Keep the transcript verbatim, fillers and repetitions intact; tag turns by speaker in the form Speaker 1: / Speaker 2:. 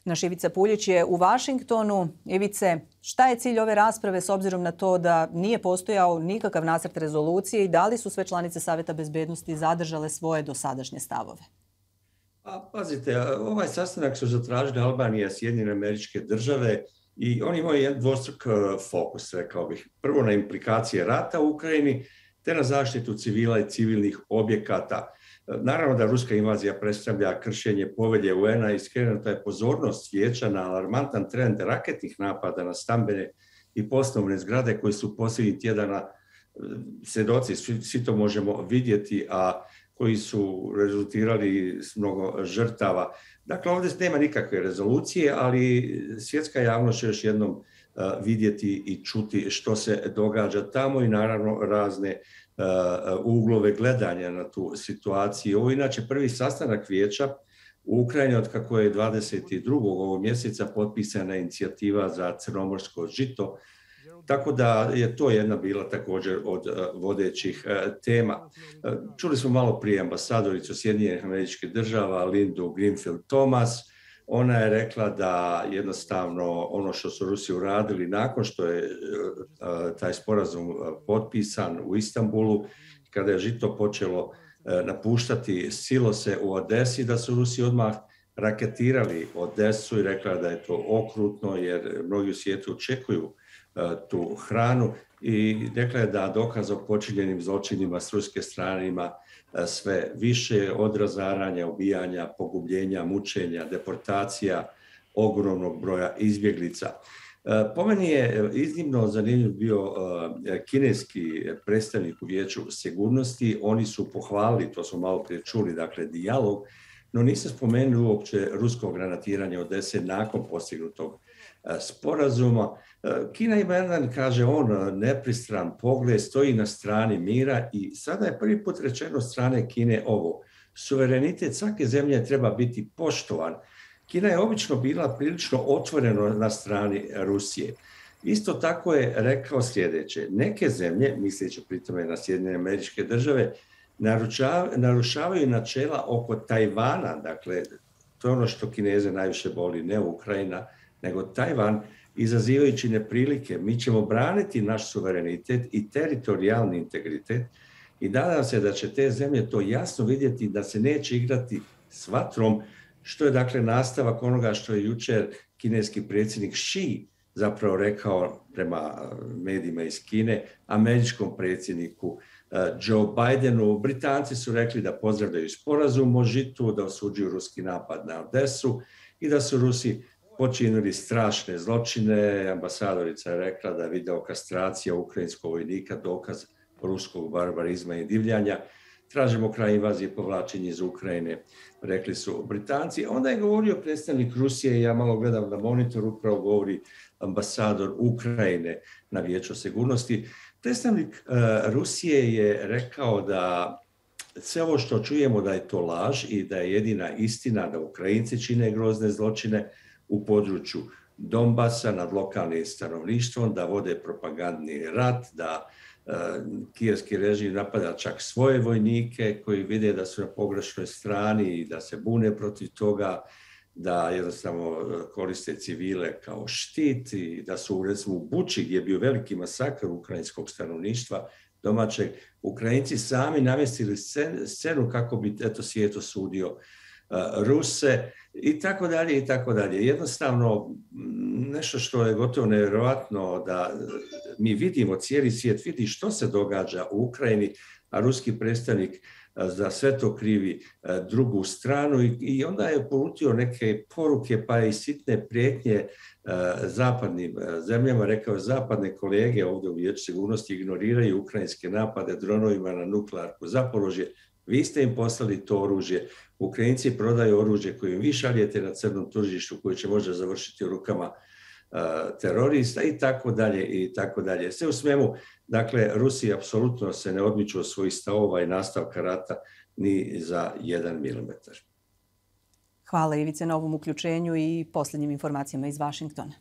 Speaker 1: Naš Ivica Puljić je u Vašingtonu. Ivice, šta je cilj ove rasprave s obzirom na to da nije postojao nikakav nacrt rezolucije i da li su sve članice Savjeta bezbednosti zadržale svoje dosadašnje stavove?
Speaker 2: A, pazite, ovaj sastanak su zatražili Albanija, Sjedinjene Američke Države i oni imaju jedan dvostruk fokus, rekao bih. Prvo na implikacije rata u Ukrajini, te na zaštitu civila i civilnih objekata. Naravno da ruska invazija predstavlja kršenje povelje U N-a i skrenuta je pozornost vijeća na alarmantan trend raketnih napada na stambene i poslovne zgrade koji su posljednjih tjedana svjedoci, svi, svi to možemo vidjeti, a koji su rezultirali s mnogo žrtava. Dakle, ovdje nema nikakve rezolucije, ali svjetska javnost će još jednom vidjeti i čuti što se događa tamo i naravno razne uglove gledanja na tu situaciju. Ovo je inače prvi sastanak vijeća u Ukrajini od kako je dvadeset drugog ovog mjeseca potpisana inicijativa za crnomorsko žito, tako da je to jedna bila također od vodećih tema. Čuli smo malo prije ambasadoricu Sjedinjenih Američkih Država Lindu Greenfield Thomas. Ona je rekla da jednostavno ono što su Rusi uradili nakon što je taj sporazum potpisan u Istanbulu, kada je žito počelo napuštati silose u Odesi, da su Rusi odmah raketirali Odesu i rekla da je to okrutno jer mnogi u svijetu očekuju tu hranu i rekla je da dokaz o počinjenim zločinima s ruske strane ima sve više od razaranja, ubijanja, pogubljenja, mučenja, deportacija, ogromnog broja izbjeglica. Po meni je iznimno zanimljiv bio kineski predstavnik u Vijeću sigurnosti. Oni su pohvalili, to smo malo prije čuli, dakle dijalog, no nisu spomenuli uopće rusko granatiranje Odese nakon postignutog sporazuma. Kina ima jedan, kaže on, nepristran pogled, stoji na strani mira i sada je prvi put rečeno od strane Kine ovo. Suverenitet svake zemlje treba biti poštovan. Kina je obično bila prilično otvoreno na strani Rusije. Isto tako je rekao sljedeće. Neke zemlje, misleći pritome na Sjedinjene Američke Države, narušavaju načela oko Tajvana. Dakle, to je ono što Kineze najviše boli, ne Ukrajina, nego Tajvan, izazivajući neprilike. Mi ćemo braniti naš suverenitet i teritorijalni integritet i nadam se da će te zemlje to jasno vidjeti da se neće igrati s vatrom, što je dakle nastavak onoga što je jučer kineski predsjednik Xi zapravo rekao prema medijima iz Kine, američkom predsjedniku Joe Bidenu. Britanci su rekli da pozdravljaju sporazum o žitu, da osuđuju ruski napad na Odesu i da su Rusi počinili strašne zločine. Ambasadorica je rekla da je video kastracija ukrajinskog vojnika dokaz ruskog barbarizma i divljanja. Tražimo kraj invazije i povlačenje iz Ukrajine, rekli su Britanci. Onda je govorio predstavnik Rusije, ja malo gledam na monitoru, upravo govori ambasador Ukrajine na Vijeću sigurnosti. Predstavnik uh, Rusije je rekao da sve ovo što čujemo da je to laž i da je jedina istina da Ukrajinci čine grozne zločine u području Donbasa nad lokalnim stanovništvom, da vode propagandni rat, da uh, kijevski režim napada čak svoje vojnike koji vide da su na pogrešnoj strani i da se bune protiv toga, da jednostavno koriste civile kao štit i da su recimo u Buči gdje je bio veliki masakr ukrajinskog stanovništva domaćeg, Ukrajinci sami namjestili scenu kako bi eto svijet osudio uh, Ruse i tako dalje i tako dalje. Jednostavno nešto što je gotovo nevjerojatno da mi vidimo, cijeli svijet vidi što se događa u Ukrajini, a ruski predstavnik za sve to krivi drugu stranu i onda je uputio neke poruke pa i sitne prijetnje zapadnim zemljama. Rekao je zapadne kolege ovdje u Vijeću sigurnosti ignoriraju ukrajinske napade dronovima na nuklearku Zaporožje. Vi ste im poslali to oružje. Ukrajinci prodaju oružje koje im vi šaljete na crnom tržištu koje će možda završiti u rukama terorista i tako dalje i tako dalje. Sve u svemu, dakle, Rusija apsolutno se ne odmiču od svojih stavova i nastavka rata ni za jedan milimetar.
Speaker 1: Hvala Ivice na ovom uključenju i posljednjim informacijama iz Vašingtona.